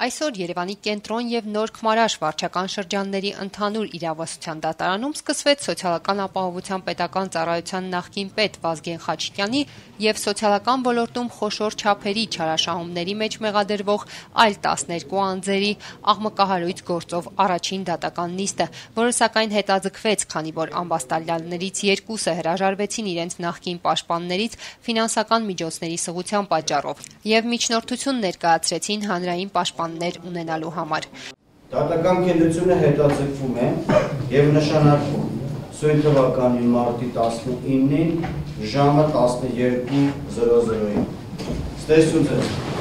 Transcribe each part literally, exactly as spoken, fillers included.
Այսօր Երևանի կենտրոն եւ Նոր Քմարաշ վարչական շրջանների ընդհանուր իրավասության դատարանում սկսվեց սոցիալական ապահովության պետական ծառայության նախկին պետ Վազգեն Խաչիկյանի եւ սոցիալական ոլորտում խոշոր չափերի չարաշահումների մեջ մեղադրվող այլ տասներկու անձերի աղմկահարույց գործով առաջին դատական նիստը, որը սակայն հետաձգվեց, քանի որ ամբաստալյալներից երկուսը հրաժարվեցին իրենց նախկին պաշտպաններից ֆինանսական միջոցների սղության պատճառով եւ միջնորդություն ներկայացրեցին հանրային պաշտպաններ ունենալու համար։ Դատական քննությունը հետաձգվում է եւ նշանակվում սույն թվականի մարտի տասնինին ժամը տասներկու զրո զրոյին։ Ստեսություն ձեզ։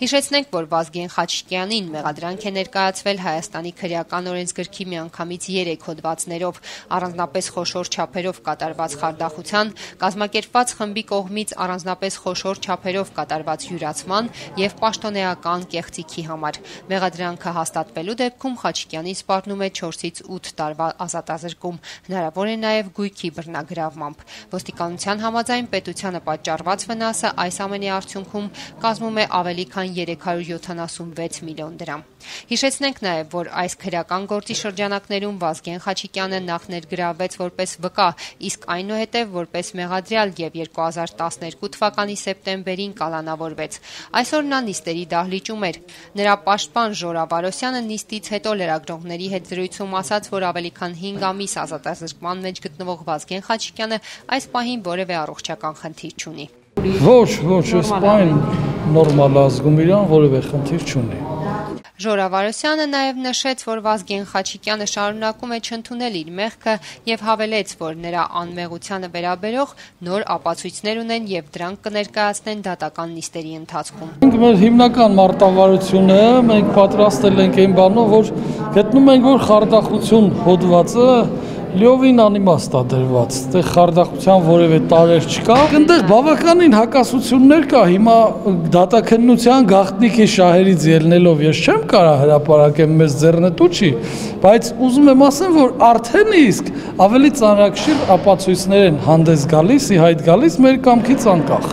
Հիշեցնենք, որ Վազգեն Խաչիկյանին մեղադրանք է ներկայացվել Հայաստանի քրեական օրենսգրքի միանգամից երեք հոդվածներով, առանձնապես խոշոր չափերով կատարված խարդախության, կազմակերպված խմբի կողմից առանձնապես խոշոր չափերով կատարված յուրացման եւ պաշտոնեական կեղծիքի համար։ Մեղադրանքը հաստատվելու դեպքում Խաչիկյանին սպառնում է չորսից ութ տարվա ազատազրկում, հնարավոր է նաեւ գույքի բռնագրավմամբ։ Ոստիկանության համաձայն պետությանը պատճառված վնասը այս ամենի արդյունքում կազմում է ավելի քան երեք հարյուր յոթանասունվեց միլիոն դրամ։ Հիշեցնենք նաև, որ այս քրեական գործի շրջանակներում Վազգեն Խաչիկյանը նախ ներգրավվեց որպես վկա, իսկ այնուհետև որպես մեղադրյալ եւ երկու հազար տասներկու թվականի սեպտեմբերին կալանավորվեց։ Այսօր նա նիստերի դահլիճում էր։ Նրա պաշտպան Ժորա Վարոսյանը նիստից հետո լրագրողների հետ զրույցում ասաց, որ ավելի քան հինգ ամիս ազատազրկման մեջ գտնվող Վազգեն Խաչիկյանը այս պահին որևէ առողջական խնդիր չունի։ Ոչ, ոչ, սպայն նորմալ ազգում իրան որևէ խնդիր չունի։ Ժորա Վարոսյանը նաև նշեց, որ Վազգեն Խաչիկյանը շարունակում է չընդունել իր մեղքը եւ հավելեց, որ նրա անմեղությանը վերաբերող նոր ապացույցներ ունեն եւ դրանք կներկայացնեն դատական նիստերի ընթացքում։ Մենք մեր հիմնական մարտավարությունը մենք պատրաստել ենք այն բանով, որ գտնում ենք, որ խարդախություն հոդվածը լիովին անիմաստ է դրված, այդտեղ խարդախության որևէ տարեր չկա։ Այնտեղ բավականին հակասություններ կա, հիմա դատաքննության գաղտնիքի շահերից ելնելով ես չեմ կարող հրապարակեմ, մեզ ձեռնտու չի, բայց ուզում եմ ասեմ, որ արդեն իսկ ավելի ծանրակշիռ ապացույցներ են հանդես գալիս, ի հայտ գալիս մեր կամքից անկախ։